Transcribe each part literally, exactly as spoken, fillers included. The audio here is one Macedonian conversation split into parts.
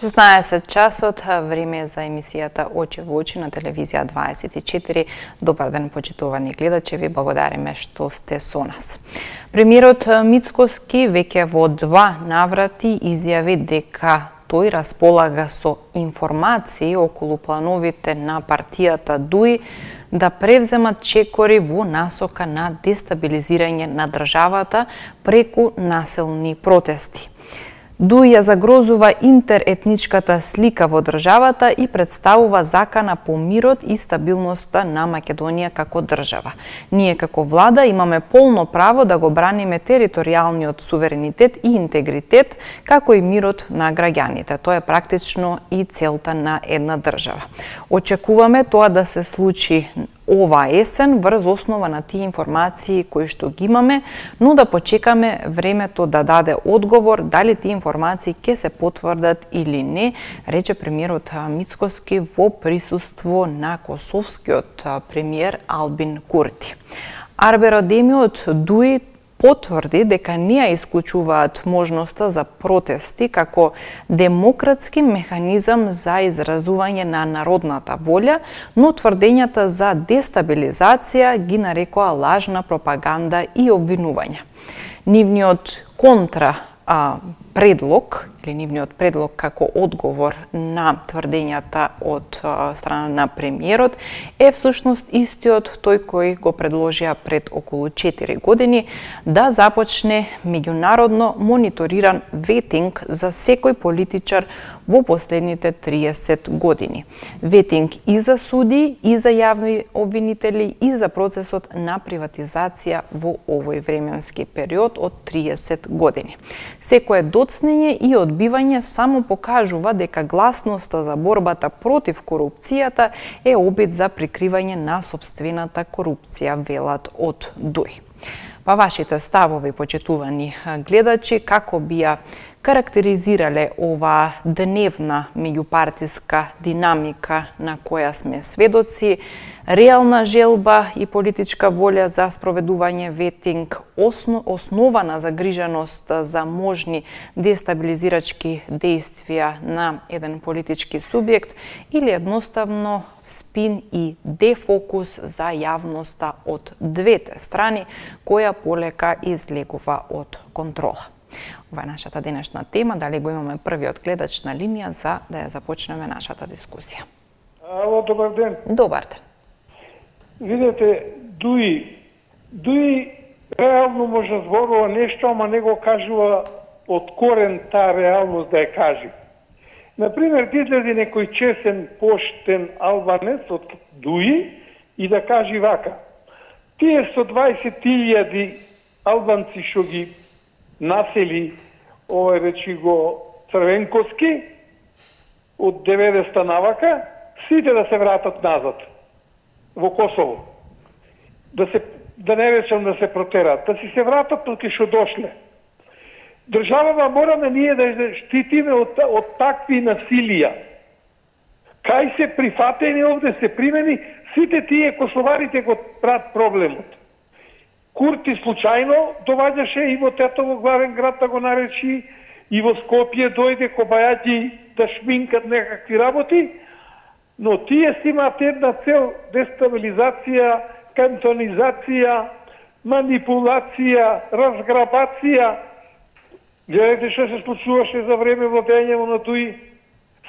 шеснаесет часот, време за емисијата Очи во очи на телевизија дваесет и четири. Добар ден, почитувани гледачи, ви благодариме што сте со нас. Премиерот Мицкоски веќе во два наврати изјави дека тој располага со информации околу плановите на партијата ДУИ да превземат чекори во насока на дестабилизирање на државата преку населни протести. ДУИ ја загрозува интеретничката слика во државата и представува закана по мирот и стабилноста на Македонија како држава. Ние како влада имаме полно право да го браниме територијалниот суверенитет и интегритет, како и мирот на граѓаните. Тоа е практично и целта на една држава. Очекуваме тоа да се случи ова есен врз основа на тие информации кои што ги имаме, но да почекаме времето да даде одговор дали тие информации ќе се потврдат или не, рече премиерот Мицкоски во присуство на косовскиот премиер Албин Курти. Арберодемиот ДУИ потврди дека не ја исклучуваат можноста за протести како демократски механизам за изразување на народната волја, но тврдењата за дестабилизација ги нарекоа лажна пропаганда и обвинувања. Нивниот контра а, предлог, или нивниот предлог како одговор на тврдењата од а, страна на премиерот е всушност истиот тој кој го предложија пред околу четири години да започне меѓународно мониториран ветинг за секој политичар во последните триесет години. Ветинг и за суди, и за јавни обвинители, и за процесот на приватизација во овој временски период од триесет години. Секое доцнење и одбивање само покажува дека гласноста за борбата против корупцијата е обид за прикривање на сопствената корупција, велат од ДУИ. Па вашите ставови, почитувани гледачи, како би ја карактеризирале ова дневна меѓупартиска динамика на која сме сведоци, реална желба и политичка волја за спроведување ветинг, основа на загриженост за можни дестабилизирачки действија на еден политички субјект или едноставно спин и дефокус за јавноста од двете страни, која полека излегува од контрола. Ова е нашата денешна тема. Дали го имаме првиот гледач на линија за да ја започнеме нашата дискусија? Ало, добар ден. Добар ден. Видете, ДУИ, ДУИ реално може да зборува нешто, ама не го кажува од корен таа реалност да ја кажи. Например, да излезе некој чесен, поштен албанец од ДУИ и да кажи вака: тие со дваесет илјади албанци што ги насели овој речи го Црвенковски од деветдесета навака, сите да се вратат назад во Косово. Да се да не речам да се протерат, да си се вратат од кај што дошле. Државава мораме ние да штитиме од, од такви насилија. Кај се прифатени овде се примени, сите тие косоварите го прават проблемот. Курти случајно доваѓаше и во Тетово главен град да го наречи, и во Скопје дојде кобајаѓи да шминкат некакви работи, но тие си имаат една цел: дестабилизација, кантонизација, манипулација, разграбација. Гледайте што се случуваше за време владење на ДУИ.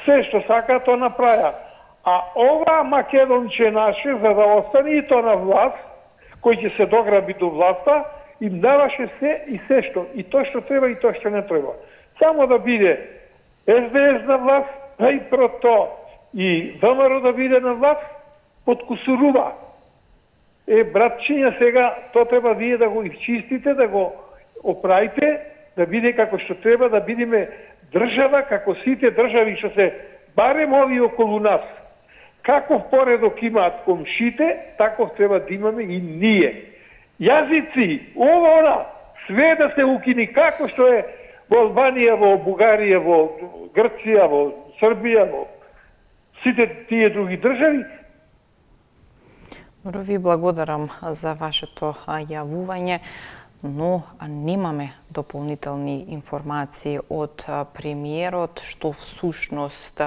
Се што сака, то направа. А ова македонче наше, за да остане и то на власт, кој ќе се дограби до власта, им даваше се и се што, и тоа што треба и тоа што не треба. Само да биде Ес Де Ес на власт, а и прото и ВМРО да биде на власт, подкусурува. Е, братчиња, сега тоа треба вие да го изчистите, да го оправите, да биде како што треба, да бидеме држава, како сите држави што се барем ови околу нас. Каков поредок имаат комшите, таков треба да имаме и ние. Јазици, ова, она, све да се укини, како што е во Албанија, во Бугарија, во Грција, во Србија, во сите тие други држави. Ви благодарам за вашето јавување. но немаме дополнителни информации од премиерот што всушност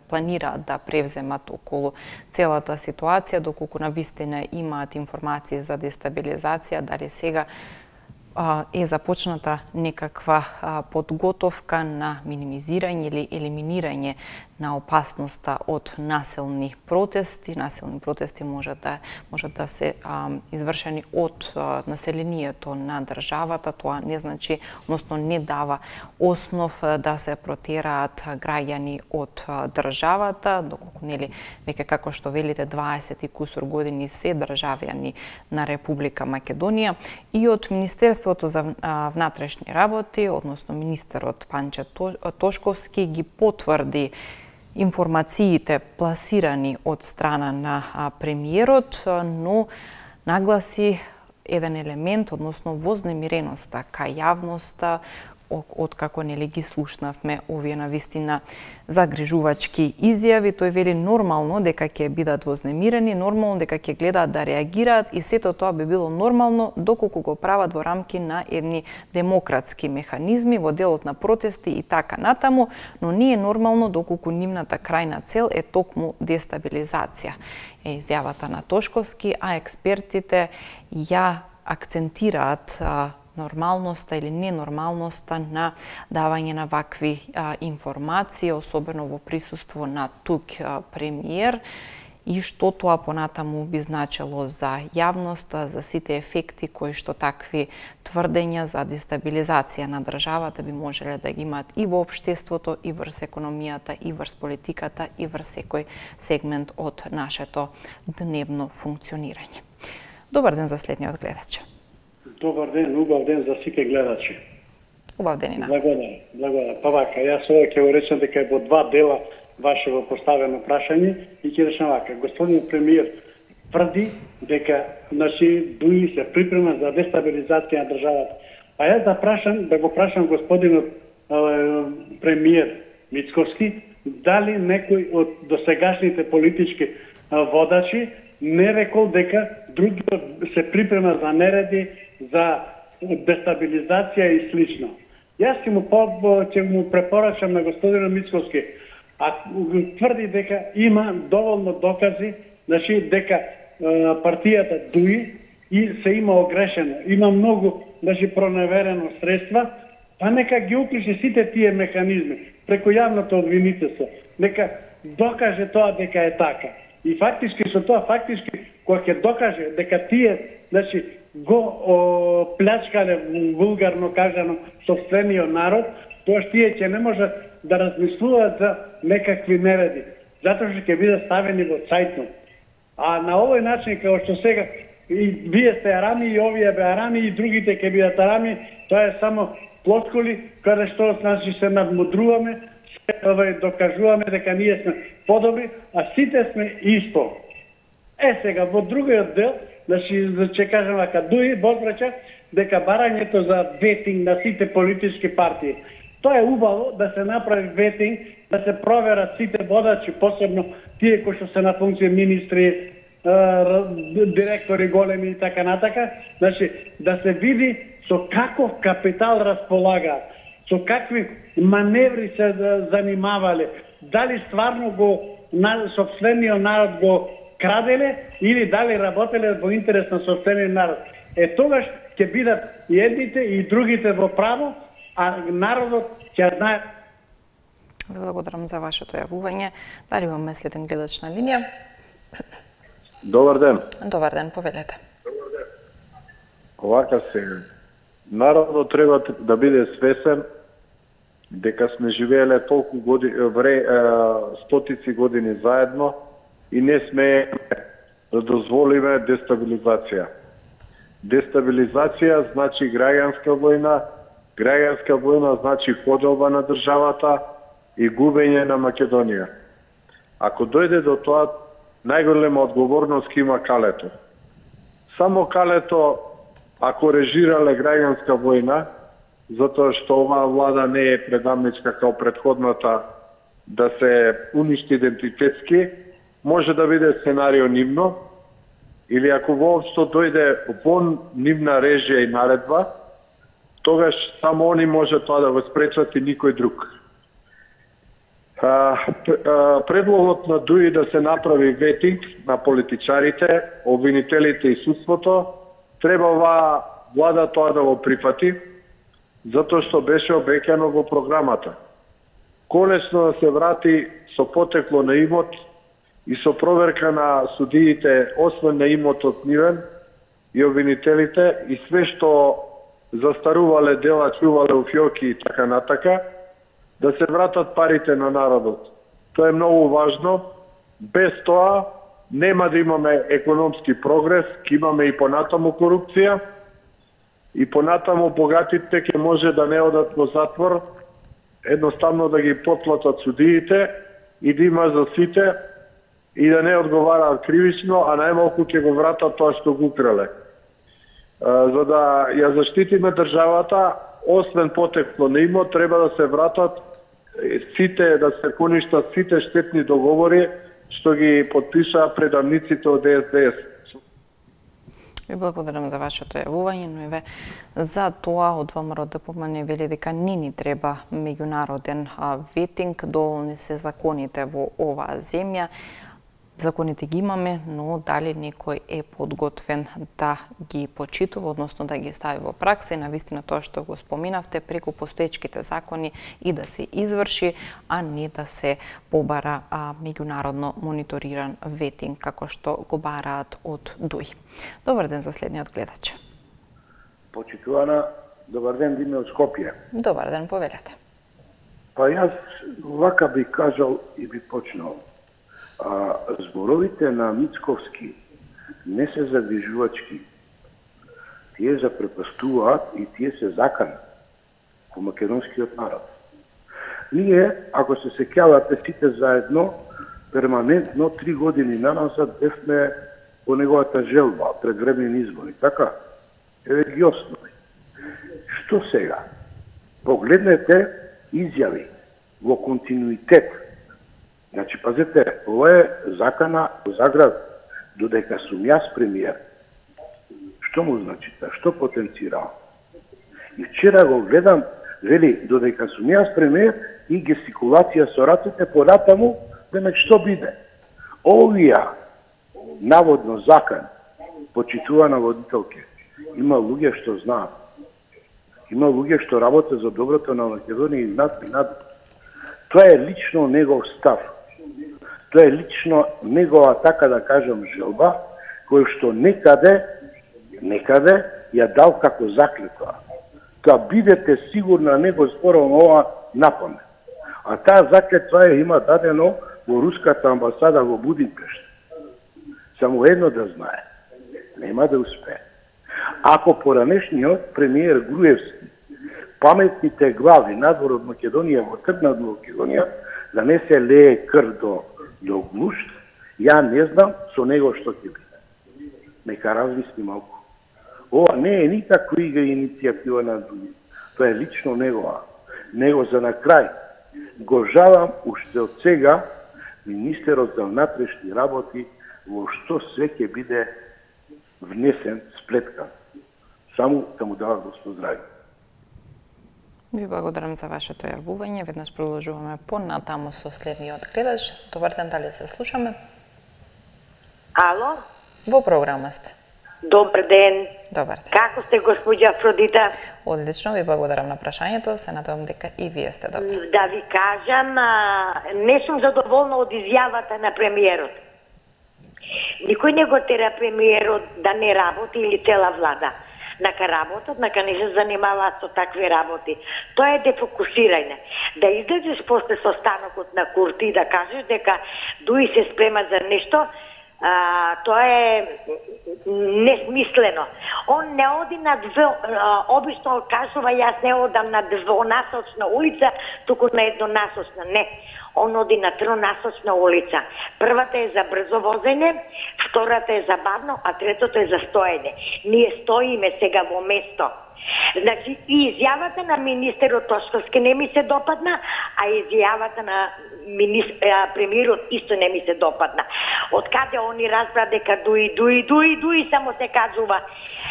планираат да превземат околу целата ситуација, доколку навистина имаат информации за дестабилизација, дали сега е започната некаква подготовка на минимизирање или елиминирање на опасноста од насилни протести. Насилни протести може да може да се а, извршени од а, населението на државата. Тоа не значи, односно не дава основ да се протераат граѓани од а, државата, доколку нели веќе како што велите дваесет и кусур години се државјани на Република Македонија. И од Министерството за а, внатрешни работи, односно министерот Панче Тошковски ги потврди информациите пласирани од страна на премиерот, но нагласи еден елемент, односно вознемиреноста кај јавноста, од како нели ги слушнавме овие навистина загрижувачки изјави. Тој вели нормално дека ќе бидат вознемирени, нормално дека ќе гледаат да реагираат и сето тоа би било нормално доколку го прават во рамки на едни демократски механизми во делот на протести и така натаму, но не е нормално доколку нивната крајна цел е токму дестабилизација. Е изјавата на Тошковски, а експертите ја акцентираат нормалноста или ненормалноста на давање на вакви а, информации, особено во присуство на тук а, премиер, и што тоа понатаму би значело за јавноста, за сите ефекти кои што такви тврдења за дестабилизација на државата би можеле да ги имаат и во општеството, и врз економијата, и врз политиката, и врз секој сегмент од нашето дневно функционирање. Добар ден за следниот гледач. Добар ден, убав ден за сите гледачи. Убав ден и нас. Благодарам, благодарам. Па вака, јас ова ќе го речам дека е во два дела вашево поставено прашање и ќе речам вака. Господин премиер тврди дека значи дуи се припрема за дестабилизација на државата. Па јас да прашам, да го прашам господинот е, премиер Мицковски, дали некој од досегашните политички е, водачи не рекол дека другиот се припрема за нереди, за дестабилизација и слично. Јас ќе му, ќе му препорачам на господинот Мицковски, а тврди дека има доволно докази, значи дека е, партијата дуи и се има огрешено. Има многу, значи, проневерено средства, па нека ги уклучи сите тие механизми преку јавното обвинителство. Нека докаже тоа дека е така. И фактички со тоа фактички кога ќе докаже дека тие, значи, го о, плячкале вулгарно кажано сопствениот народ, тоа што тие ќе не можат да размислуваат за некакви нереди, затоа што ќе бидат ставени во цајтнот. А на овој начин како што сега и вие сте арами и овие бе арами и другите ќе бидат арами, тоа е само плотколи каде што значи се надмудруваме, се докажуваме дека ние сме подобри, а сите сме исто. Е сега во другиот дел, значи ќе кажам вака, дуи возбрача дека барањето за ветинг на сите политички партии. Тоа е убаво да се направи ветинг, да се проверат сите водачи, посебно тие кои што се на функција министри, директори големи и така натака, значи да се види со каков капитал располагаат, со какви маневри се занимавале, дали стварно го сопствениот народ го краделе или дали работеле во интерес на сопствениот народ. Е тогаш ќе бидат и едните и другите во право, а народот ќе знае. Благодарам за вашето јавување. Дали имаме следен гледач на линија? Добар ден. Добар ден, повелете. Овака се, народот треба да биде свесен дека сме живееле толку години, вре, стотици години заедно и не сме да дозволиме дестабилизација. Дестабилизација значи граѓанска војна, граѓанска војна значи поделба на државата и губење на Македонија. Ако дојде до тоа, најголема одговорност има Калето. Само Калето, ако режирале граѓанска војна, затоа што оваа влада не е предамничка као претходната да се уништи идентитетски, може да биде сценарио нивно, или ако воопшто дојде во нивна режија и наредба, тогаш само они може тоа да го спречат и никој друг. А, предлогот на ДУИ да се направи ветинг на политичарите, обвинителите и судството, треба оваа влада тоа да го прифати, затоа што беше обеќано во програмата. Конечно да се врати со потекло на имот и со проверка на судиите, освен на имотот нивен и обвинителите, и све што застарувале дела, чувале у фиоки и така натака, да се вратат парите на народот. Тоа е многу важно. Без тоа нема да имаме економски прогрес, ќе имаме и понатаму корупција, и понатаму богатите ќе може да не одат во затвор, едноставно да ги потлатат судиите и да има за сите и да не одговараат кривично, а најмалку ќе го вратат тоа што го украле. За да ја заштитиме државата, освен потекло на имот, треба да се вратат сите, да се поништат сите штетни договори што ги потпишаа предавниците од Д С Д С. Ви благодарам за вашето јавување, но и ве за тоа од ВМРО Д П М Н вели дека не ни треба меѓународен ветинг, доволни се законите во оваа земја. Законите ги имаме, но дали некој е подготвен да ги почитува, односно да ги стави во пракса и навистина тоа што го споминавте преку постоечките закони и да се изврши, а не да се побара а, меѓународно мониториран ветинг, како што го бараат од ДУИ. Добар ден за следниот гледач. Почитувана, добар ден, Диме од Скопје. Добар ден, повелете. Па јас вака би кажал и би почнал. А, зборовите на Мицковски не се загрижувачки. Тие запрепастуваат и тие се закана по македонскиот народ. Ние, ако се сеќавате сите заедно, перманентно три години наназад бевме по неговата желба, предвременни избори, така? Еве ги основи. Што сега? Погледнете изјави во континуитет. Значи, пазете, ова е закана во Заград, додека сум јас премиер. Што му значи та? Што потенцира? И вчера го гледам, вели, додека сум јас премиер и гестикулација со рацете понатаму, демек што биде? Овија, наводно закан, почитувана водителке, има луѓе што знаат. Има луѓе што работат за доброто на Македонија и над и над. Тоа е лично негов став. Тоа е лично негова, така да кажам, желба, кој што некаде, некаде ја дал како заклетва. Тоа бидете сигурна не го зборувам ова напамет. А таа заклетва ја има дадено во руската амбасада во Будимпешт. Само едно да знае. Нема да успее. Ако поранешниот премиер Груевски, паметните глави надвор од Македонија во тргнат во Македонија, да не се лее крв до, до гнушт, ја не знам со него што ќе биде. Нека размисли малку. Ова не е никаква игра иницијатива на други. Тоа е лично негова. Него за на крај. Го жалам уште од сега министерот за внатрешни работи во што све ќе биде внесен, сплеткан. Само да му дава го поздрави. Ви благодарам за вашето јавување. Веднаш продолжуваме понатаму со следниот гледач. Добар ден, дали се слушаме? Ало? Во програма сте. Добар ден. Добар ден. Како сте, госпоѓа Афродита? Одлично, ви благодарам на прашањето. Се надевам дека и вие сте добри. Да ви кажам, а, не сум задоволна од изјавата на премиерот. Никој не го тера премиерот да не работи или цела влада. Нака работат, нака не се занимаваат со такви работи. Тоа е дефокусирање. Да излезеш после со станокот на Курти и да кажеш дека ДУИ се спрема за нешто, а, тоа е несмислено. Он не оди на две, а, обично кажува, јас не одам на двонасочна улица, туку на еднонасочна. Не. Он оди на тронасочна улица. Првата е за брзо возење, втората е за бавно, а третото е за стоење. Ние стоиме сега во место. Значи, и изјавата на министерот Тошковски не ми се допадна, а изјавата на министр, премиерот исто не ми се допадна. од каде они разбра дека дуи, дуи, дуи, дуи само се кажува.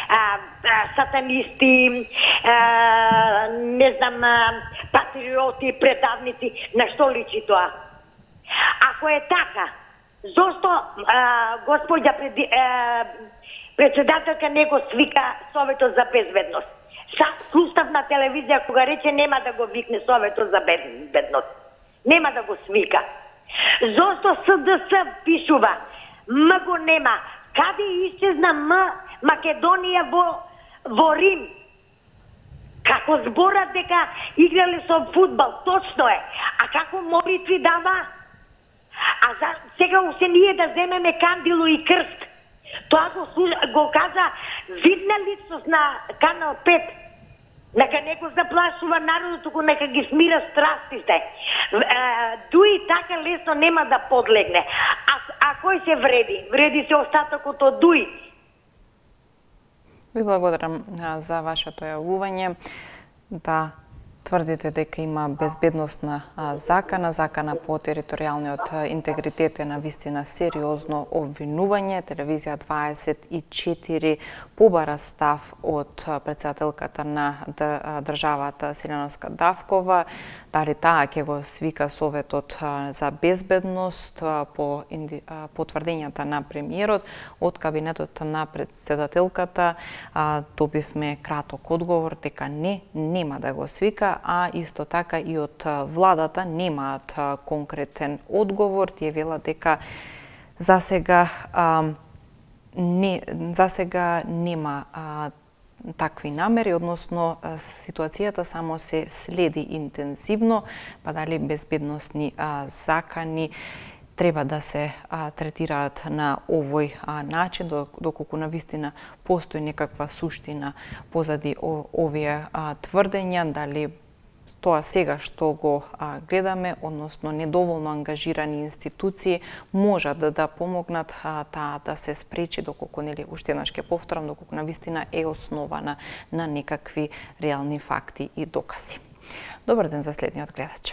А, а, сатанисти, а, не знам, а, патриоти, предавници, на што личи тоа? Ако е така, зошто а, господја пред, а, председателка не го свика Советот за безбедност? Са суставна телевизија кога рече нема да го викне Советот за безбедност. Нема да го свика. Зошто С Д С пишува? М го нема. Каде исчезна М Македонија во, во Рим? Како зборат дека играле со фудбал, точно е. А како молитви дава? А за, сега усе ние да земеме кандило и крст. Тоа го, го кажа видна личност на Канал пет. Нека не го заплашува народот, туку нека ги смира страстите. Дуи така лесно нема да подлегне. А, а кој се вреди? Вреди се остатокот од Дуи. Ви благодарам за вашето јавување. Да тврдите дека има безбедносна закана, закана по територијалниот интегритет е навистина сериозно обвинување. Телевизија дваесет и четири побара став од претседателката на државата Селјановска Давкова, дали таа ќе го свика Советот за безбедност по потврдењата на премиерот. Од кабинетот на претседателката добивме краток одговор дека не, нема да го свика, а исто така и од владата немаат конкретен одговор. Тие велат дека за сега а, не за сега нема а, такви намери, односно ситуацијата само се следи интензивно, па дали безбедносни а, закани треба да се а, третираат на овој а, начин, доколку навистина постои некаква суштина позади о, овие а, тврдења, дали тоа сега што го а, гледаме, односно недоволно ангажирани институции, можат да, да помогнат а, таа да се спречи, доколку, нели, уште еднаш ќе повторам, доколку навистина е основана на некакви реални факти и докази. Добар ден за следниот гледач.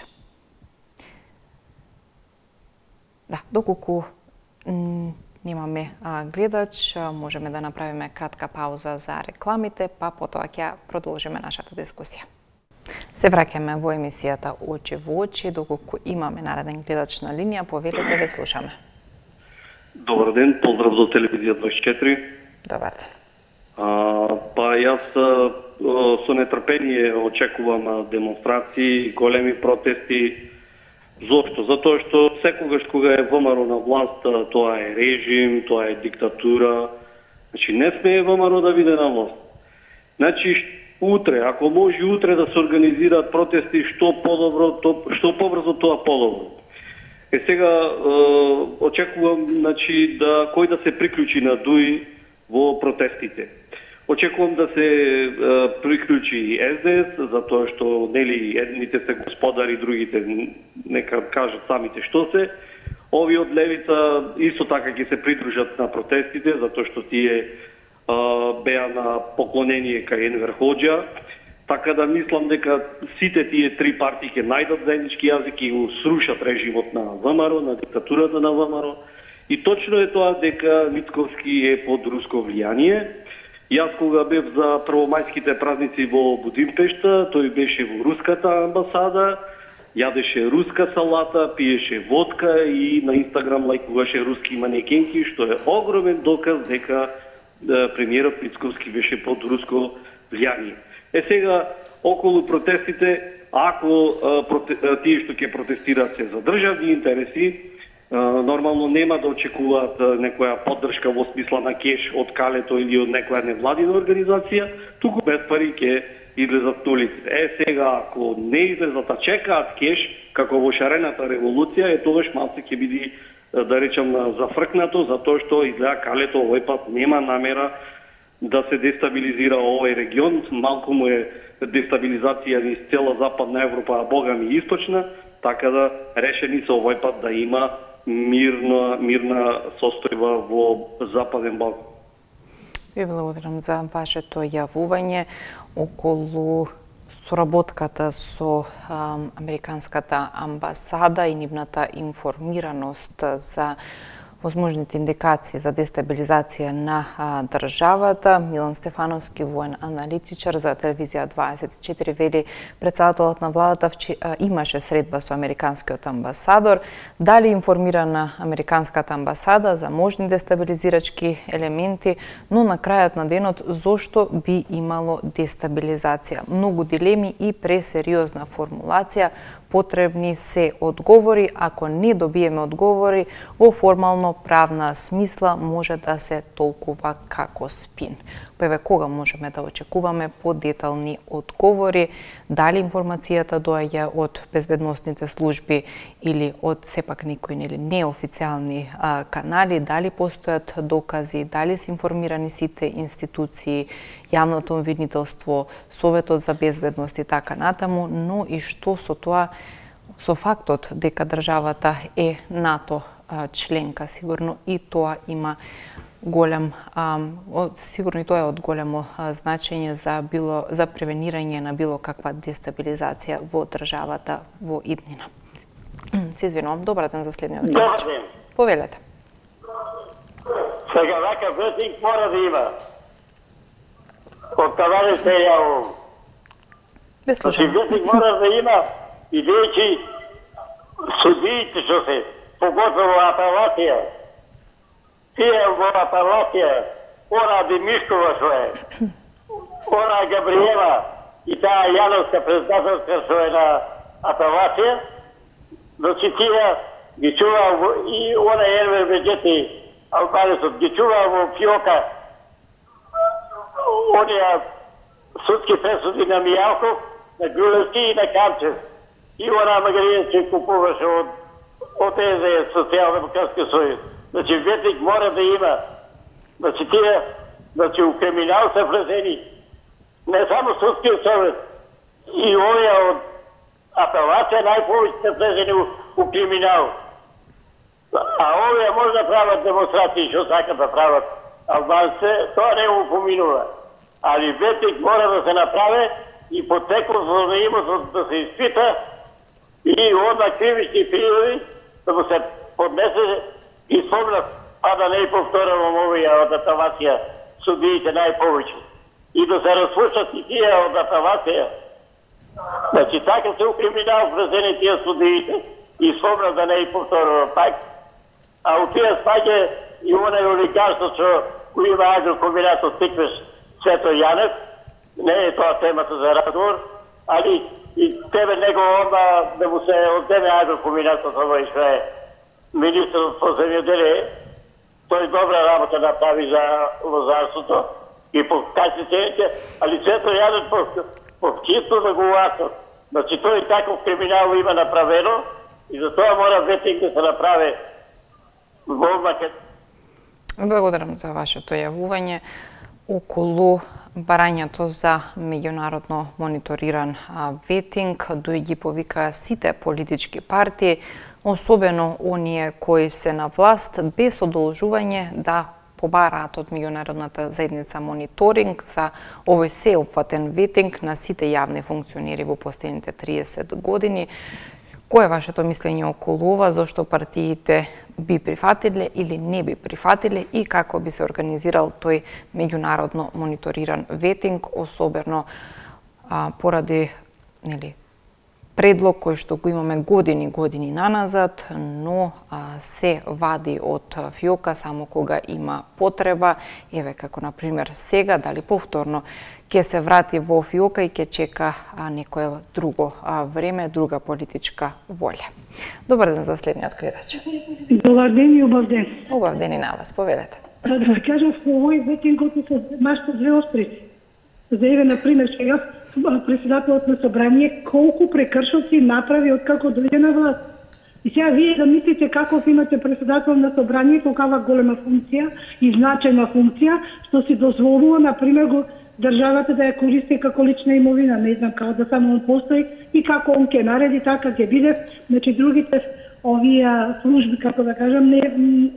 Да, доколку немаме а, гледач, можеме да направиме кратка пауза за рекламите, па потоа ќе продолжиме нашата дискусија. Се враќаме во емисијата Очи во очи, доколку имаме нареден гледач на линија, повелете, ве слушаме. Добар ден, поздрав до телевизија дваесет и четири. Добар ден. А, па јас а, со нетрпение очекувам демонстрации, големи протести. Зошто? Затоа што секогаш кога е ВМРО на власт, тоа е режим, тоа е диктатура. Значи не смее ВМРО да биде на власт. Значи утре, ако може утре да се организираат протести, што подобро, то, што побрзо тоа подобро. Е сега е, очекувам, значи, да кој да се приклучи на Дуи во протестите. Очекувам да се е, приклучи и С Д С, затоа што нели едните се господари, другите нека кажат самите што се. Ови од левица исто така ќе се придружат на протестите, затоа што тие беа на поклонение кај Енвер Хоџа, така да мислам дека сите тие три партии ќе најдат заеднички јазик и го срушат режимот на ВМРО, на диктатурата на ВМРО. И точно е тоа дека Мицковски е под руско влијание. Јас кога бев за првомајските празници во Будимпешта, тој беше во руската амбасада, јадеше руска салата, пиеше водка и на Инстаграм лајкуваше руски манекенки, што е огромен доказ дека премиерот Мицковски беше под руско влијание. Е сега, околу протестите, ако тие што ќе протестираат се за државни интереси, нормално нема да очекуваат некоја поддршка во смисла на кеш од Калето или од некоја невладина организација, туку без пари ќе излезат на улиците. Е сега, ако не излезат, а чекаат кеш, како во шарената револуција, е тогаш малце ќе биде, да речам, зафркнато, затоа што изгледа Калето овој пат нема намера да се дестабилизира овој регион. Малку му е дестабилизација низ цела Западна Европа, а бога ми источна, така да решени се овој пат да има мирна, мирна состојба во Западен Балкан. Ви благодарам за вашето јавување околу соработката со а, Американската амбасада и нивната информираност за возможните индикации за дестабилизација на а, државата. Милан Стефановски, воен аналитичар за телевизија дваесет и четири, вели председателот на владата а, имаше средба со американскиот амбасадор. Дали информирана американската амбасада за можни дестабилизирачки елементи, но на крајот на денот зошто би имало дестабилизација? Многу дилеми и пресериозна формулација. Потребни се одговори. Ако не добиеме одговори, во формално правна смисла може да се толкува како спин. Па кога можеме да очекуваме подетални одговори? Дали информацијата доаѓа од безбедносните служби или од сепак некои нели неофицијални а, канали? Дали постојат докази? Дали се информирани сите институции, јавното обвинителство, Советот за безбедност и така натаму, но и што со тоа, со фактот дека државата е НАТО членка, сигурно и тоа има голем, а, сигурно и тоа е од големо а, значење за било за превенирање на било каква дестабилизација во државата во иднина. Се извинувам, добар ден за следниот гледач. Добар ден. Повелете. Сега вака ветник мора да има. Од таване се јавувам. Без слушам. Ветник мора да има и веќе судиите што се, поготово апелација. Тие во апелација, она Демишкова што е, она Габриела и таа Јановска председателска што е на апелација, значи тие ги чува и она Ервер Беджети, албанецот, ги чува во фиока онија судски пресуди на Мијалков, на Грулевски и на Камчев. И она Магаријански купуваше од од тези Социјалдемократски сојуз. Значи ветник мора да има. Значи тие, значи у криминал се влезени не само судскиот совет, и овие од апелација најповеќе се влезени у, у криминал. А овие може да прават демонстрации што сакат да прават албанците, тоа не му поминува. Али ветник мора да се направи и потекот за имотот да се испита и одма кривични пријави да му се поднесе и спомнат, а да не повторувам овие од апелација судиите најповеќе. И да се распуштат и тие од апелација. Значи така се укриминал влезени тие судиите и спомнат да не повторувам пак. А у тие спаѓа и онај олигарство што кој има агрокомбинатот Тиквеш Свето Јанев. Не е тоа темата за разговор, али и тебе него онда да му се одземе агрокомбинатот овој што е министерот по земјоделие. Тој добра работа направи за лозарството и по касицените, али Свето Јанев по, по чисто да го уасат. Значи тој таков криминал има направено и за тоа мора ветник да се направи во Македонија. Благодарам за вашето јавување околу барањето за меѓународно мониториран ветинг. Дој ги повика сите политички партии, особено оние кои се на власт, без одолжување да побараат од меѓународната заедница мониторинг за овој сеопфатен ветинг на сите јавни функционери во последните триесет години. Кој е вашето мислење околу ова, зашто партиите би прифатиле или не би прифатиле и како би се организирал тој меѓународно мониториран ветинг, особено а, поради нели, предлог кој што го имаме години години наназад, но а, се вади од фиока само кога има потреба, еве како на пример сега, дали повторно ќе се врати во фиока и ќе чека а, некое друго а, време, друга политичка волја. Добар ден за следниот гледач. Добар ден и убав ден. Убав ден и на вас, повелете. Да ви кажам, во овој ветингот се нашите две осприци. За еве, например, сега председателот на собрание колку прекршоци направи откако дојде на власт. И сега вие да мислите каков имате председател на собрание, колкава голема функција и значајна функција, што си дозволува, например, го државата да ја користи како лична имовина, не знам, како да само он постои и како он ќе нареди, така ќе биде. Значи, другите овие служби, како да кажам, не,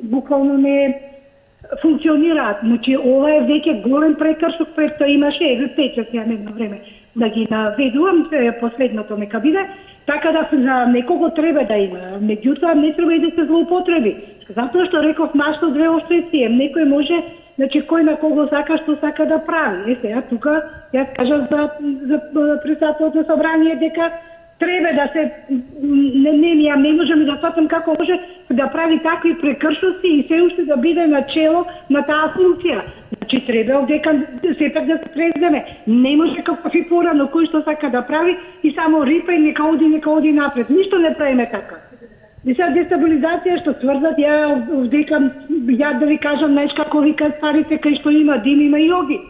буквално не функционираат. Значи, ова е веќе голем прекршок, пред тоа имаше, еве, печат, ја немам време да ги наведувам, последното нека биде, така да за некого треба да има. Меѓутоа, не треба и да се злоупотреби. Затоа што реков машто две острици, некој може, значи кој на кого сака што сака да прави. Е, сега тука јас кажам за за председателот на собрание дека треба да се не не ја не можеме да сватам како може да прави такви прекршоци и се уште да биде на чело на таа функција. Значи треба дека сепак да се преземе. Не може како фи порано кој што сака да прави и само рипа и нека оди нека оди напред. Ништо не правиме така. И сега дестабилизација што тврдат, ја дека ја да ви кажам знаеш како викаат старите кај што има дим има и оги.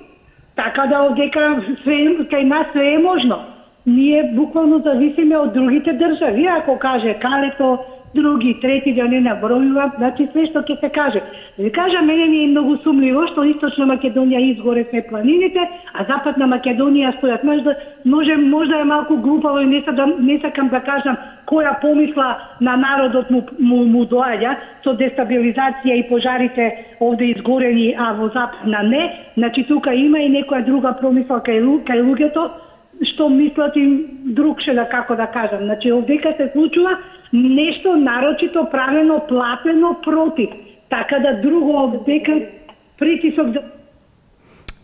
Така да дека све кај нас све е можно. Ние буквално зависиме од другите држави, ако каже Калето, други, трети, да не набројувам, значи све што ќе се каже. Да ви кажа, мене ми е многу сумливо што Источна Македонија изгоре се планините, а Западна Македонија стојат. Можда, може, можда е малку глупаво и не, да, не сакам да кажам која помисла на народот му, му, му доаѓа со дестабилизација и пожарите овде изгорени, а во Западна не. Значи тука има и некоја друга промисла кај, кај луѓето, што мислат и другше да како да кажам. Значи овдека се случува нешто нарочито правено, платено против. Така да друго овдека притисок да...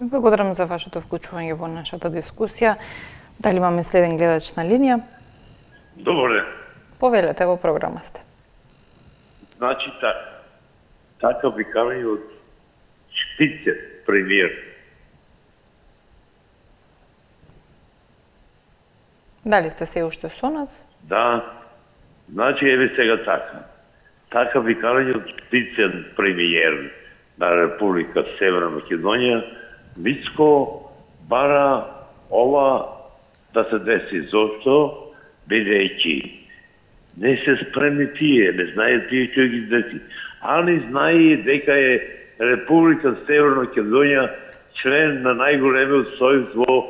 Благодарам за вашето вклучување во нашата дискусија. Дали имаме следен гледач на линија? Добре. Повелете, во програма сте. Значи така, така викање од Шпице, премиер. Дали сте се уште со нас? Да. Значи, еве сега така. Така викање од Шпице, премиер на Република Северна Македонија, Мицко бара ова да се деси. Зошто? Бидејќи не се спремни тие, не знае тие што ги деси. А не знае дека е Република Северна Македонија член на најголемиот сојуз во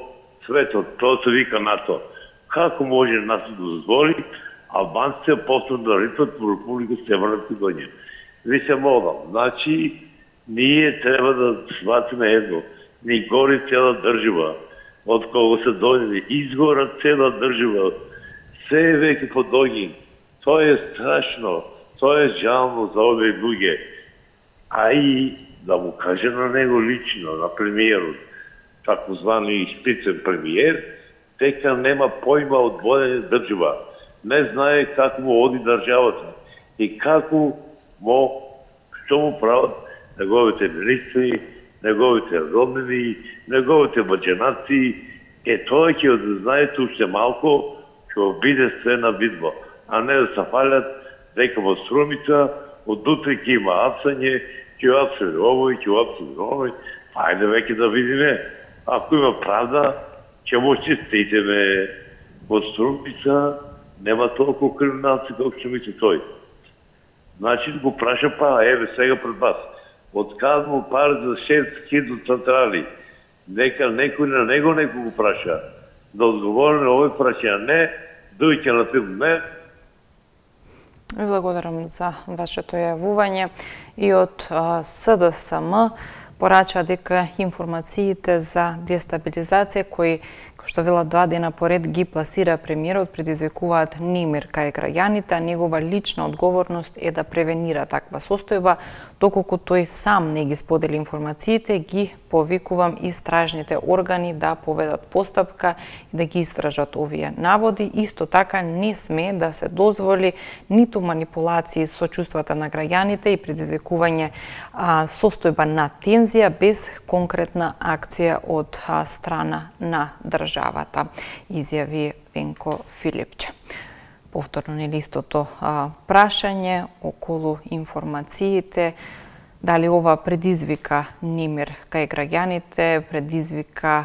светот. Тоа се вика НАТО. Како може нас да дозволи албанците почнат да рипат во Република Северна Македонија? Ви се молам, значи ние треба да сватиме едно. Ни гори цела држава, од кога се дојде, изгора цела држава, се е веќе под огин. Тоа е страшно, тоа е жално за овие луѓе. А и да му каже на него лично, на премиерот, тако звани Шпицен премиер, дека нема појма од водење држава. Не знае како му оди државата и како му, што му прават неговите министри, неговите роднини, неговите баџанаци. Е, тоа ќе да знаете уште малко, ќе биде све на видно, а не да се фалят дека во Струмица од утре ќе има апсање, ќе апсање овој, ќе апсање овој. Ајде веќе да видиме, ако има правда, ќе му честитеме. Во Струмица нема толку криминалци колку ќе мисли тој. Значи го праша па, еве сега пред вас. Откад му пари за шест хидроцентрали, нека некој на него некој го праша. Да одговори на овој прашања не, дојќе на филм не. Ви благодарам за вашето јавување и од С Д С М порача дека информациите за дестабилизација кои што вела два дена поред ги пласира премиерот предизвикуваат немир кај граѓаните, а негова лична одговорност е да превенира таква состојба, доколку тој сам не ги сподели информациите, ги повикувам истражните органи да поведат постапка и да ги истражат овие наводи. Исто така не сме да се дозволи ниту манипулации со чувствата на граѓаните и предизвикување а, состојба на тензија без конкретна акција од а, страна на државата, изјави Венко Филипче. Повторно нели истото а, прашање околу информациите, дали ова предизвика немир кај граѓаните, предизвика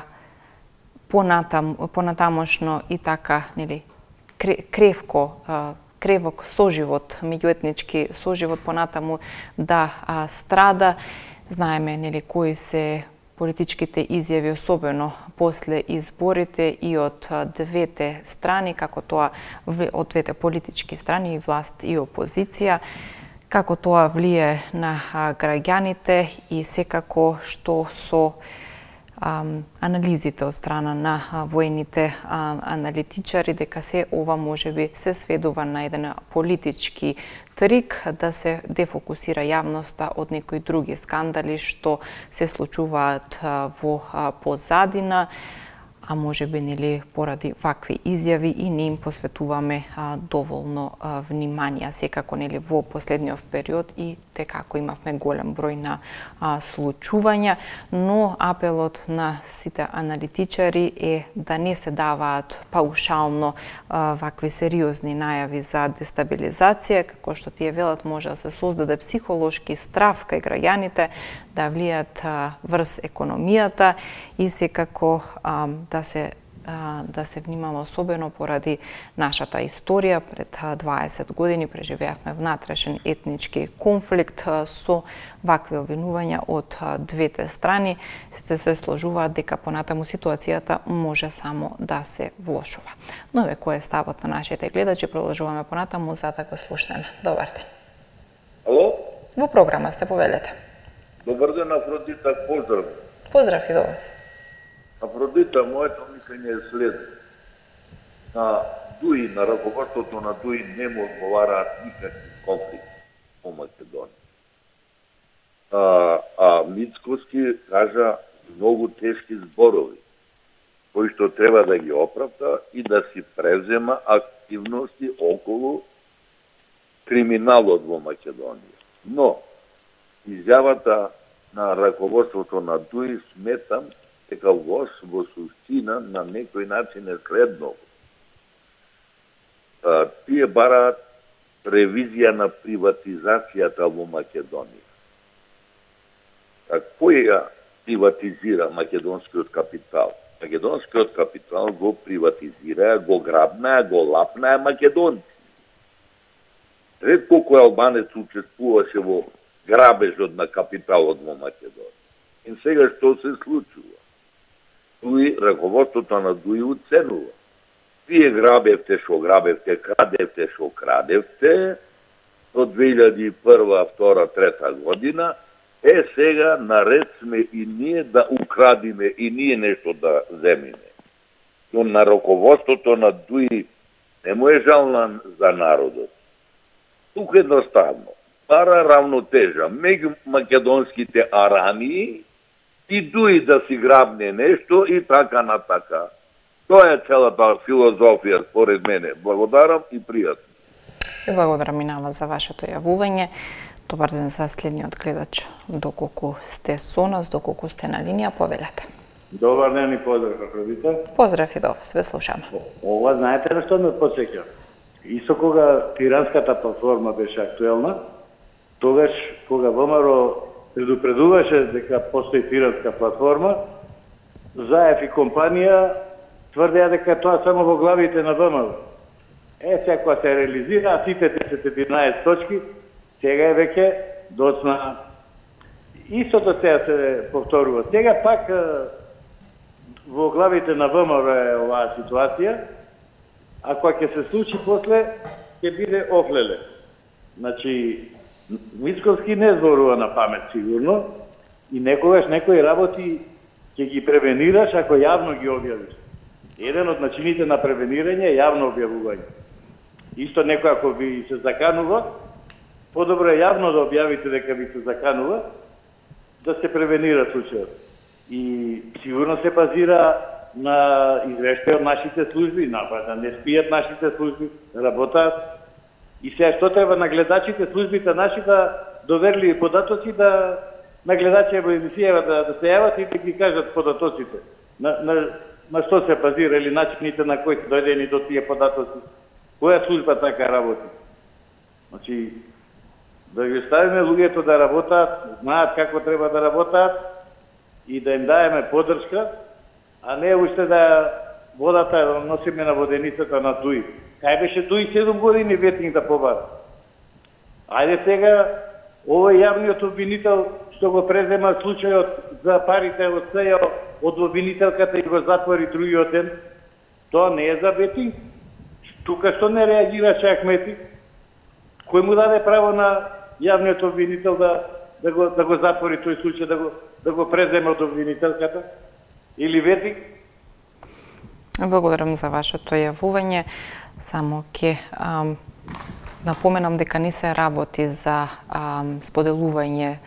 понатам, понатамошно и така нели кревко а, кревок соживот, меѓуетнички соживот понатаму да а, страда. Знаеме нели кои се политичките изјави, особено после изборите и од двете страни, како тоа од двете политички страни, и власт и опозиција, како тоа влие на граѓаните и секако што со анализите од страна на воените аналитичари дека се ова можеби се сведува на еден политички трик да се дефокусира јавноста од некои други скандали што се случуваат во позадина, а може би нели поради вакви изјави и не им посветуваме а, доволно а, внимание. Секако нели во последниот период и текако имавме голем број на а, случувања, но апелот на сите аналитичари е да не се даваат паушално а, вакви сериозни најави за дестабилизација, како што тие велат може да се создаде психолошки страв кај граѓаните, да влијат а, врз економијата и секако а, да се а, да се внимава особено поради нашата историја. Пред дваесет години преживеавме внатрешен етнички конфликт а, со вакви обвинувања од а, двете страни. Сите се сложуваат дека понатаму ситуацијата може само да се влошува. Но ве кој е ставот на нашите гледачи, продолжуваме понатаму за да го слушнеме. Добар ден. Ало? Во програма сте, повелете. Добар ден, Афродита, поздрав. Поздрав и до вас. Афродита, моето мислење е следно. На ДУИ, на раководството на ДУИ не му одговараат никакви конфликти по Македонија. А, а Мицкоски кажа многу тешки зборови, кои што треба да ги оправда и да си презема активности околу криминалот во Македонија. Но, изјавата на раководството на ДУИ сметам дека во во суштина на некој начин е следно. Тие бараат ревизија на приватизацијата во Македонија. Кој ја приватизира македонскиот капитал? Македонскиот капитал го приватизира, го грабнаа, го лапнаа македонци. Ретко кој албанец учествуваше во грабежот на капиталот во Македонија. И сега што се случува? ДУИ, раководството на ДУИ уценува. Вие грабевте шо грабевте, крадевте шо крадевте до две илјади и прва, втора, трета година. Е, сега наред сме и ние да украдиме и ние нешто да земиме. Но на раководството на ДУИ не му е жална за народот. Тук едноставно бара равнотежа меѓу македонските арании и ДУИ да си грабне нешто и така на така. Тоа е целата филозофија според мене. Благодарам и пријатно. И благодарам и на вас за вашето јавување. Добар ден за следниот гледач. Доколку сте со нас, доколку сте на линија, повелете. Добар ден и поздрав, Афродита. Поздрав и до вас, ве слушаме. Ова знаете на што ме потсеќа? Исто кога тиранската платформа беше актуелна, тогаш кога ВМРО предупредуваше дека постои тиранска платформа, Заев и компанија тврдеа дека тоа само во главите на ВМРО. Е, сега кога се реализира, сите десет единаесет точки, сега е веќе доцна. Истото сега се повторува. Сега пак во главите на ВМРО е оваа ситуација, а кога ќе се случи после, ќе биде офлеле. Значи, Мицкоски не зборува на памет сигурно и некогаш некои работи ќе ги превенираш ако јавно ги објавиш. Еден од начините на превенирање е јавно објавување. Исто некој ако ви се заканува, подобро е јавно да објавите дека ви се заканува, да се превенира случајот. И сигурно се базира на извештај од нашите служби, на да не спијат нашите служби, работаат. И сега што треба на гледачите, службите наши да доверливи податоци, да на гледачите во емисијава да, да се јават и да ги кажат податоците. На, на, на што се базира или начините на кои се дојдени до тие податоци. Која служба така работи? Значи, да ги оставиме луѓето да работаат, знаат како треба да работаат и да им даеме поддршка, а не уште да водата носиме на воденицата на ДУИ. Кај беше ДУИ седум години ветинг да побара? Ајде сега, овој јавниот обвинител што го презема случајот за парите од СЈО од обвинителката и го затвори другиот ден, тоа не е за ветинг? Тука што не реагираше Ахмети? Кој му даде право на јавниот обвинител да, да, го, да го затвори тој случај, да го, да го преземе од обвинителката? или ветик? Благодарам за вашето јавување. Само ќе напоменам дека не се работи за ам, споделување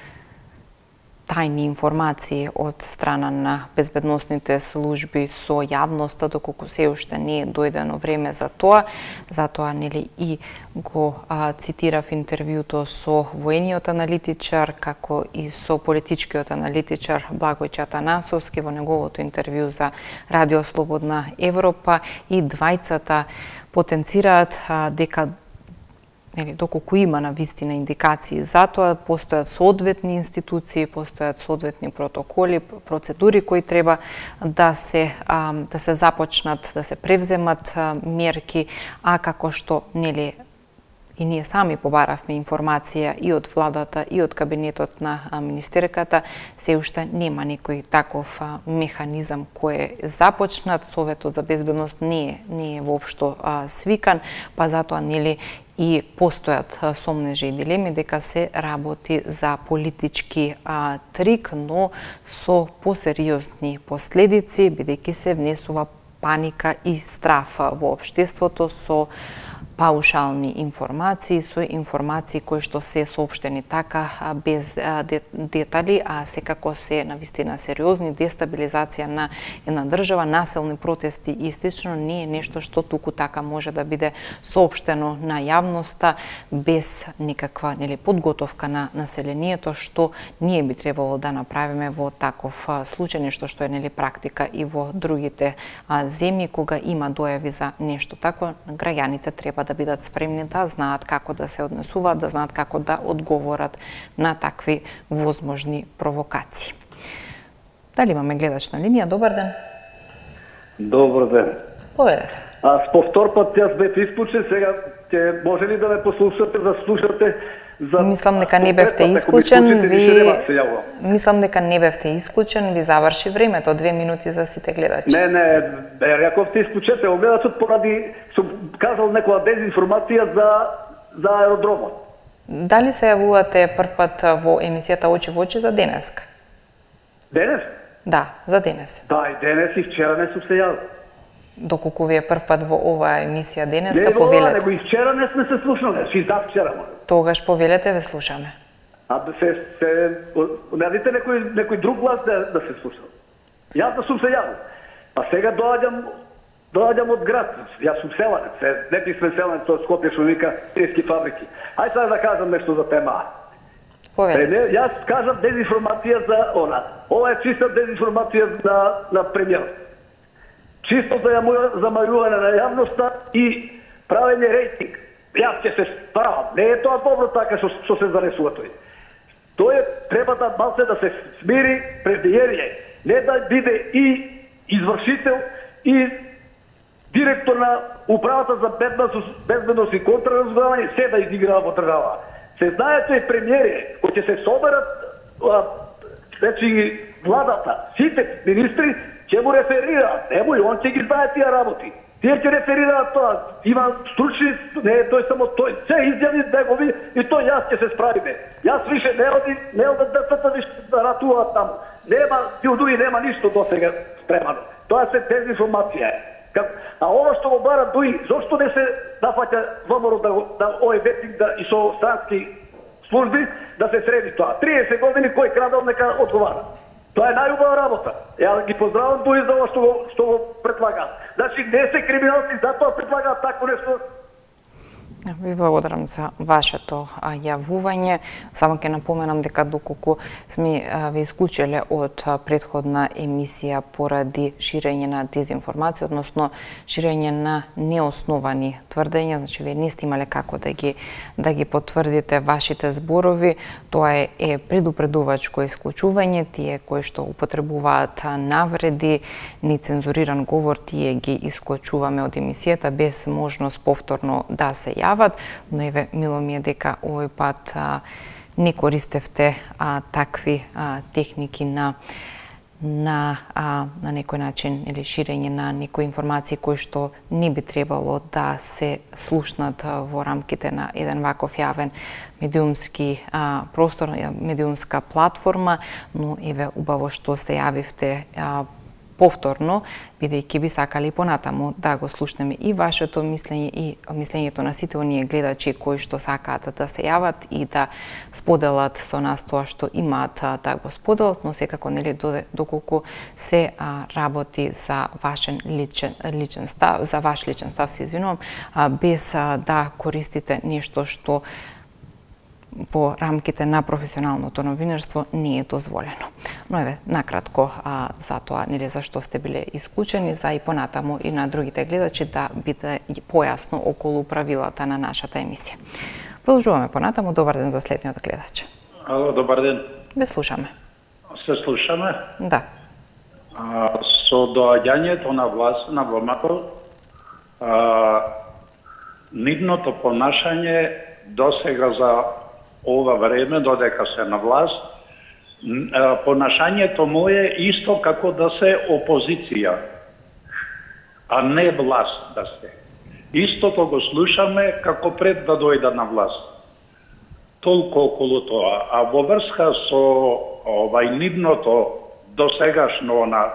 тајни информации од страна на безбедносните служби со јавноста, доколку се уште не е дојдено време за тоа. Затоа нели и го а, цитирав интервјуто со воениот аналитичар, како и со политичкиот аналитичар Благој Чатанасовски во неговото интервју за Радио Слободна Европа, и двајцата потенцираат а, дека Нели, доколку има на вистина индикации за тоа, постојат соодветни институции, постојат соодветни протоколи, процедури кои треба да се а, да се започнат, да се превземат а, мерки, а како што нели и ние сами побаравме информација и од владата и од кабинетот на а, министерката, се уште нема некој таков а, механизам кој е започнат. Советот за безбедност не е не е воопшто а, свикан, па затоа нели и постојат сомнежи и дилеми дека се работи за политички а, трик, но со посериозни последици, бидејќи се внесува паника и страф во општеството со паушални информации, со информации кои што се соопштени така без детали, а секако се навистина сериозни, дестабилизација на една држава, населни протести и слично, не е нешто што туку така може да биде соопштено на јавноста без никаква нели подготовка на населението, што ние би требало да направиме во таков случај, нешто што е нели практика и во другите а, земји, кога има дојави за нешто такво, граѓаните треба да бидат спремни, да знаат како да се однесуваат, да знаат како да одговорат на такви возможни провокации. Дали имаме гледач на линија? Добар ден. Добар ден. Поведете. Аз повтор пат јас бев исклучен, сега ќе може ли да ме послушате, да слушате за... Мислам дека не бевте исклучен, ви... Мислам дека не бевте исклучен, ви заврши времето, две минути за сите гледачи. Не, не, рековте исклучете, огледачот поради, сум казал некоја дезинформација за, за аеродромот. Дали се јавувате прв пат во емисијата Очи во очи за денеска? Денес? Да, за денес. Да, и денес и вчера не сум се јавил. Доколку ви е прв пат во оваа емисија денеска, не, повелете. Не, него и вчера не сме се слушнале, си да вчера. Тогаш повелете, ве слушаме. А да се, се навите некој, некој друг глас да, да се слушал. Јас да сум се јавил. А сега доаѓам, доаѓам од град. Јас сум селанец, не писмен селанец од Скопје, што вика трески фабрики. Ај сега да кажам нешто за тема. Повелете. Јас кажам дезинформација за она. Ова е чиста дезинформација на, на премиерот. Чисто за замајување на јавноста и правење рейтинг. Јас ќе се справам. Не е тоа добро така што, што се занесува тој. Тој треба да малце да се смири премиерје. Не да биде и извршител и директор на управата за безбедност и контраразузнавање, се да изиграва во држава. Се знае тој премиерје, кој ќе се соберат значи владата, сите министри ќе му реферираат, нему и он ќе ги знае тие работи. Тие ќе реферираат тоа, има стручни, не е тој само тој, се изјави негови и тој јас ќе се справиме. Јас више не оди, не оди децата више да ратуваат таму. Нема, тие дуи нема ништо до сега спремано. Тоа се дезинформација е. А ова што го бара дуи, зошто не се нафаќа ВМРО да, да овој ветник да, и со странски служби да се среди тоа. триесет години кој крадал нека одговара. Тоа е најубава работа. Ја ги поздравам тој за ова што го, што го предлагаат. Значи не се криминалци, затоа предлагаат такво нешто. Ви благодарам за вашето јавување. Само ќе напоменам дека доколку сме ви исклучиле од претходна емисија поради ширење на дезинформација, односно ширење на неосновани тврдења, значи вие не сте имале како да ги да ги потврдите вашите зборови, тоа е, е предупредувачко исклучување, тие кои што употребуваат навреди, нецензуриран говор, тие ги исклучуваме од емисијата без можност повторно да се јават. Но еве, мило ми е дека овој пат а, не користевте а, такви а, техники на на а, на некој начин или ширење на некои информации кои што не би требало да се слушнат а, во рамките на еден ваков јавен медиумски а, простор, медиумска платформа, но еве убаво што се јавивте а, повторно, бидејќи би сакали понатаму да го слушнеме и вашето мислење и мислењето на сите оние гледачи кои што сакаат да се јават и да споделат со нас тоа што имаат да го споделат, но секако нели доколку се а, работи за вашен личен личен став, за ваш личен став, се извинувам, а, без а, да користите нешто што во рамките на професионалното новинарство не е дозволено. Но еве, накратко а, за тоа, нели зашто сте биле исклучени, за и понатаму и на другите гледачи да биде појасно околу правилата на нашата емисија. Продолжуваме понатаму. Добар ден за следниот гледач. Ало, добар ден. Ве слушаме. Се слушаме? Да. А, со доаѓањето на власт на ВМРО, нивното понашање досега за ова време, додека се на власт, понашањето му е исто како да се опозиција, а не власт да се. Истото го слушаме како пред да дојда на власт. Толку околу тоа. А во врска со овај нивното досегашно на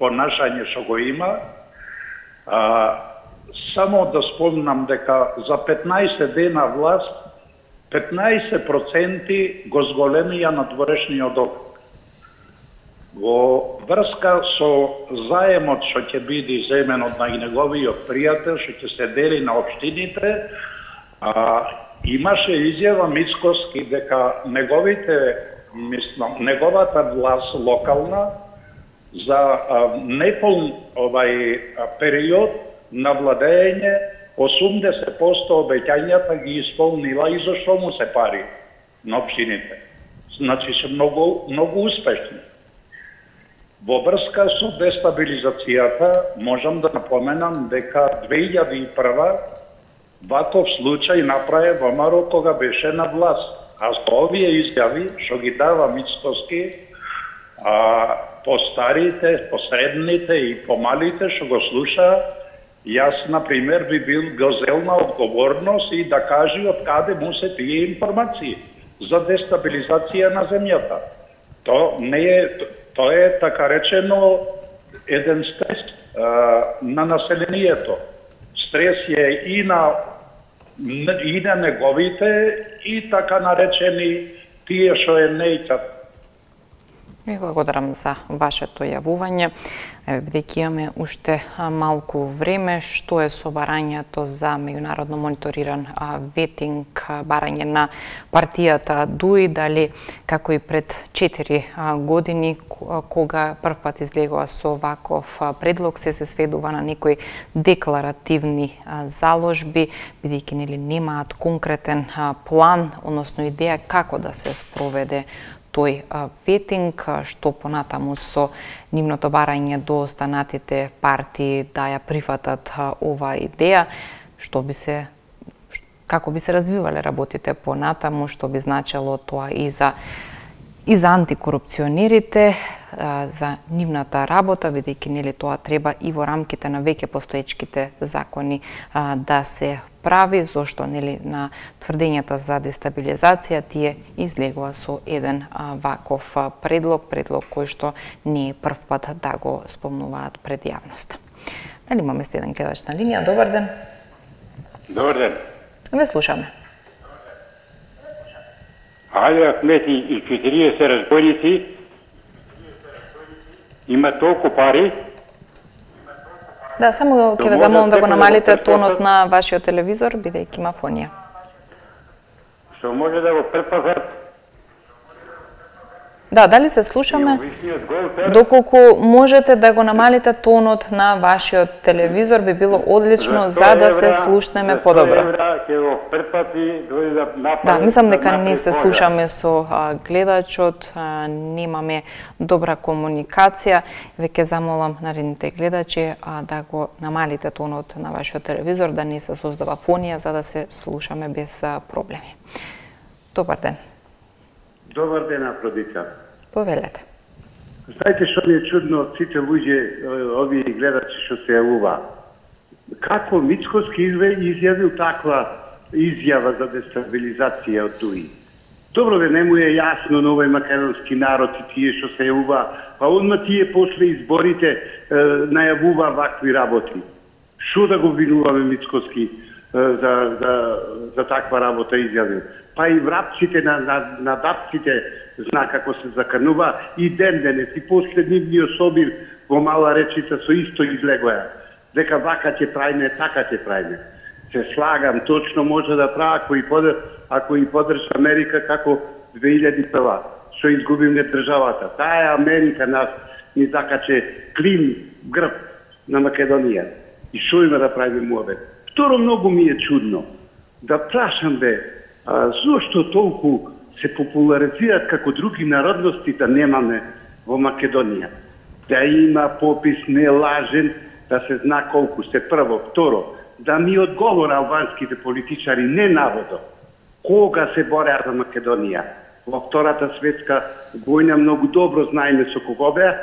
понашање што го има, а, само да спомнам дека за петнаесет дена власт петнаесет проценти го зголемија надворешниот док. Во врска со заемот што ќе биде земен од неговиот пријател, што ќе се дели на општините, а, имаше изјава Мицкоски дека неговите, мислам, неговата власт локална за а, неполн овај а, период на владење осумдесет проценти обеќањата ги исполнила и зашто му се пари на општините. Значи се многу, многу успешни. Во врска со дестабилизацијата можам да напоменам дека две илјади и прва ваков случај направи ВМРО кога беше на власт. А со овие изјави што ги дава Мицкоски, а, по старите, по средните и по малите што го слуша, јас, например, би бил го зел на одговорност и да кажи од каде му се тие информации за дестабилизација на земјата. То не е, тоа е така речено еден стрес а, на населението. Стрес е и на и на неговите и така наречени тие што е нејќат. Ви благодарам за вашето јавување. Бидејќи имаме уште малку време, што е со барањето за меѓународно мониториран ветинг, барање на партијата ДУИ, дали како и пред четири години, кога прв пат излегува со ваков предлог, се се сведува на некои декларативни заложби, бидејќи нели немаат конкретен план, односно идеја како да се спроведе тој ветинг, што понатаму со нивното барање до останатите партии да ја прифатат ова идеја, што би се како би се развивале работите понатаму, што би значело тоа и за и за антикорупционерите, за нивната работа, бидејќи нели тоа треба и во рамките на веќе постоечките закони да се прави, зошто нели на тврдењата за дестабилизација тие излегува со еден ваков предлог, предлог кој што не е прв пат да го спомнуваат пред јавноста. Дали имаме следен гледач на линија? Добар ден. Добар ден. Ве слушаме. Али Ахмети и четириесет разбойници има толку пари. Да, само ќе ве замолам да го намалите тонот на вашиот телевизор, бидејќи има фонија. Што може да го предпазат? Да, дали се слушаме? Доколку можете да го намалите тонот на вашиот телевизор, би било одлично за да се слушнеме подобро. Да, мислам дека не се слушаме со а, гледачот, а, немаме добра комуникација. Веќе замолам наредните гледачи а, да го намалите тонот на вашиот телевизор, да не се создава фонија, за да се слушаме без а, проблеми. Добар ден. Добар ден, Афродита. Повелете. Знаете што ми е чудно од сите луѓе, овие гледачи што се јавува? Како Мицкоски изјавил таква изјава за дестабилизација од ДУИ? Добро бе, не му е јасно на овој македонски народ и тие што се јавува, па одма тие после изборите е, најавува вакви работи. Шо да го винуваме Мицкоски е, за, за, за таква работа изјави? Па и врапците на, на, на дапците зна како се закрнува и ден денес и последнивниот собир во Мала Речица со исто излегоја. Дека вака ќе правиме, така ќе правиме. Се слагам, точно може да прави ако и подр, ако и подржа Америка како две илјади и прва, што изгубиме државата. Таа Америка нас ни закаче клин грб на Македонија. И што има да правиме муабет? Второ, многу ми е чудно да прашам бе, а, зошто толку се популаризираат како други народности да немаме во Македонија? Да има попис нелажен, да се зна колку се прво. Второ, да ми одговора албанските политичари не наводо кога се бореа за Македонија. Во Втората светска војна многу добро знаеме со кого беа,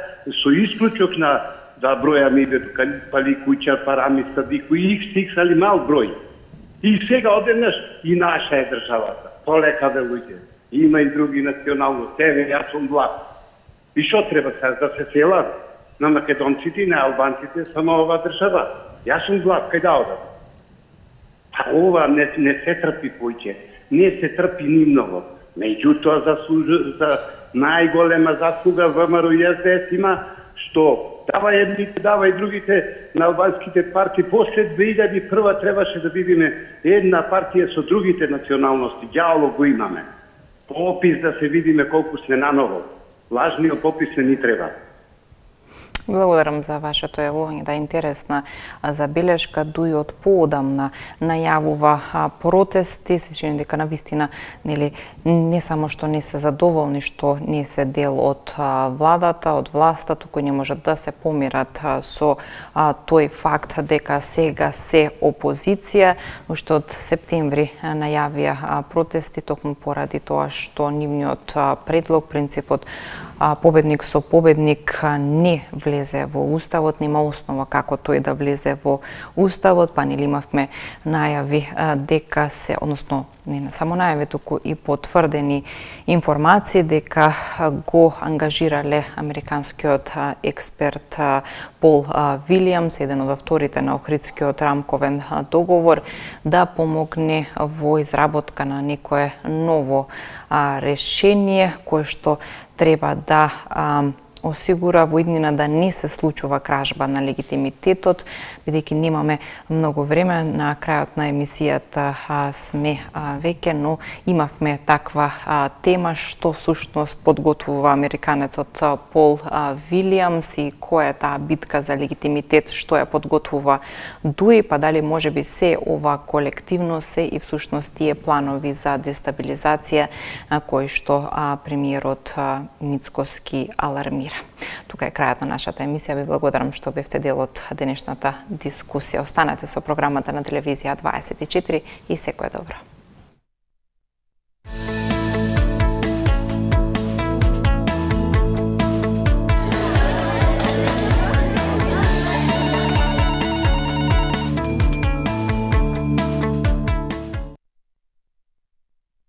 со исклучок на да бројаме името Пали Кујчар, Парами Садико и их стиксали мал број. И сега одеднаш и наша е државата. Полека бе луѓе. Има и други националности. Еве, јас сум влад. И што треба сега да се селат на македонците и на албанците само ова држава? Јас сум влад, кај да одам? Па ова не, не се трпи поќе, не се трпи ни многу. Меѓутоа заслужа, за најголема заслуга ВМРО и ес де ес има што дава едните, дава и другите на албанските партии. После две илјади и прва требаше да видиме една партија со другите националности. Ѓаоло го имаме. Попис да се видиме колку сме наново. Лажниот попис не ни треба. Благодарам за вашето јавување, да, интересна забелешка. Дуи од поодамна најавува протести, се чини дека навистина нели не само што не се задоволни што не се дел од владата, од власта, туку не можат да се помират со тој факт дека сега се опозиција, уште од септември најавија протести токму поради тоа што нивниот предлог, принципот победник со победник не влезе во Уставот, нема основа како тој да влезе во Уставот, па нели имавме најави дека се, односно не само најави, туку и потврдени информации дека го ангажирале американскиот експерт Пол Вилијамс, еден од авторите на Охридскиот рамковен договор, да помогне во изработка на некое ново решение кое што треба да а, осигура во иднина да не се случува кражба на легитимитетот, бидејќи немаме многу време, на крајот на емисијата а, сме а, веќе, но имавме таква а, тема што всушност подготвува американецот Пол а, Вилијамс и која е таа битка за легитимитет, што ја подготвува Дуи, па дали може би се ова колективно се и всушност тие планови за дестабилизација а, кои што а, премиерот а, Мицкоски алармира. Тука е крајот на нашата емисија. Ви благодарам што бевте дел од денешната дискусија. Останете со програмата на телевизија дваесет и четири и секое добро.